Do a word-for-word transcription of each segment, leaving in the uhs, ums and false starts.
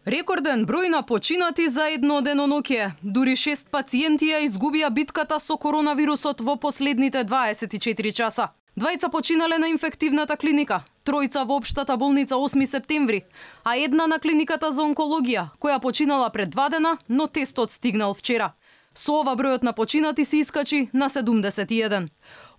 Рекорден број на починати за едно деноноќе. Дури шест пациенти ја изгубија битката со коронавирусот во последните дваесет и четири часа. Двајца починале на инфективната клиника, тројца во општата болница осми септември, а една на клиниката за онкологија, која починала пред два дена, но тестот стигнал вчера. Со ова бројот на починати се искачи на седумдесет и еден.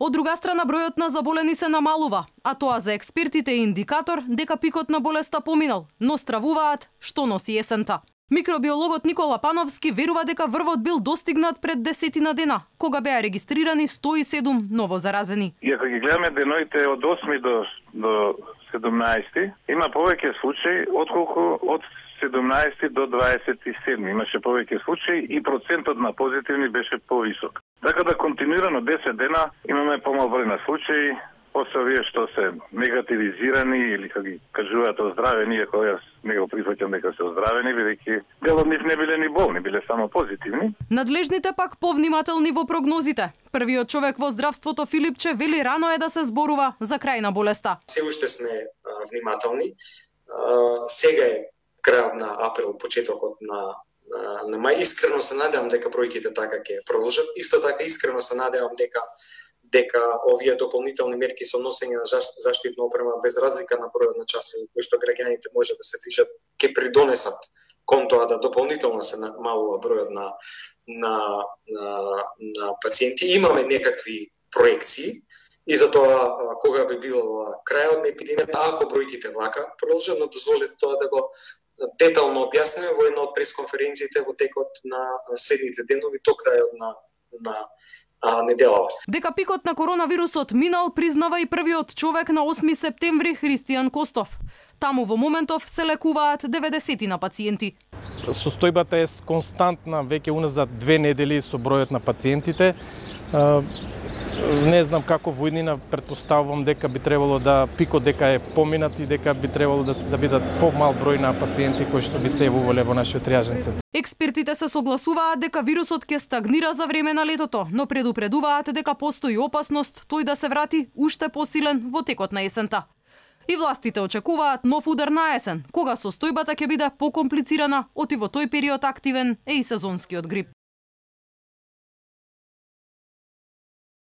Од друга страна бројот на заболени се намалува, а тоа за експертите е индикатор дека пикот на болеста поминал, но стравуваат што носи есента. Микробиологот Никола Пановски верува дека врвот бил достигнат пред десетина дена, кога беа регистрирани сто и седум ново заразени. И ако ги гледаме деноите од осми до, до седумнаесети, има повеќе случаи отколку од седумнаесети до дваесет и седми. Имаше повеќе случаи и процентот на позитивни беше повисок. Така да континуирано десет дена имаме помал број на случаи, после овие што се негативизирани или како ги кажуваат оздравени, иако јас не го прифаќам дека се оздравени, бидејќи дел од нив не биле ни болни, биле само позитивни. Надлежните пак повнимателни во прогнозите. Првиот човек во здравството Филипче вели рано е да се зборува за крај на болеста. Се уште сме а, внимателни. А, сега е крајот на април, почетокот на на мај. Искрено се надевам дека бројките така ќе продолжат. Исто така искрено се надевам дека дека овие дополнителни мерки со носење на заштитна опрема без разлика на бројот на часови кои што граѓаните може да се движат ќе придонесат кон тоа да дополнително се намалува бројот на на на, на пациенти. Имаме некакви проекции и затоа кога би бил крајот на епидемијата, ако бројките вака продолжат, но дозволете тоа да го детално објасниме во една од пресконференциите во текот на следните денови до крајот на на а, неделава. Дека пикот на коронавирусот минал, признава и првиот човек на осми септември Христијан Костов. Таму во моментов се лекуваат деветдесет на пациенти. Состојбата е константна веќе уназад две недели со бројот на пациентите. Не знам како во иднина, претпоставувам дека би требало да пикот дека е поминат и дека би требало да, да бидат помал број на пациенти кои што би се јавувале во нашиот триажен центар. Експертите се согласуваат дека вирусот ќе стагнира за време на летото, но предупредуваат дека постои опасност тој да се врати уште посилен во текот на есента. И властите очекуваат нов удар на есен, кога состојбата ќе биде покомплицирана, оти во тој период активен е и сезонскиот грип.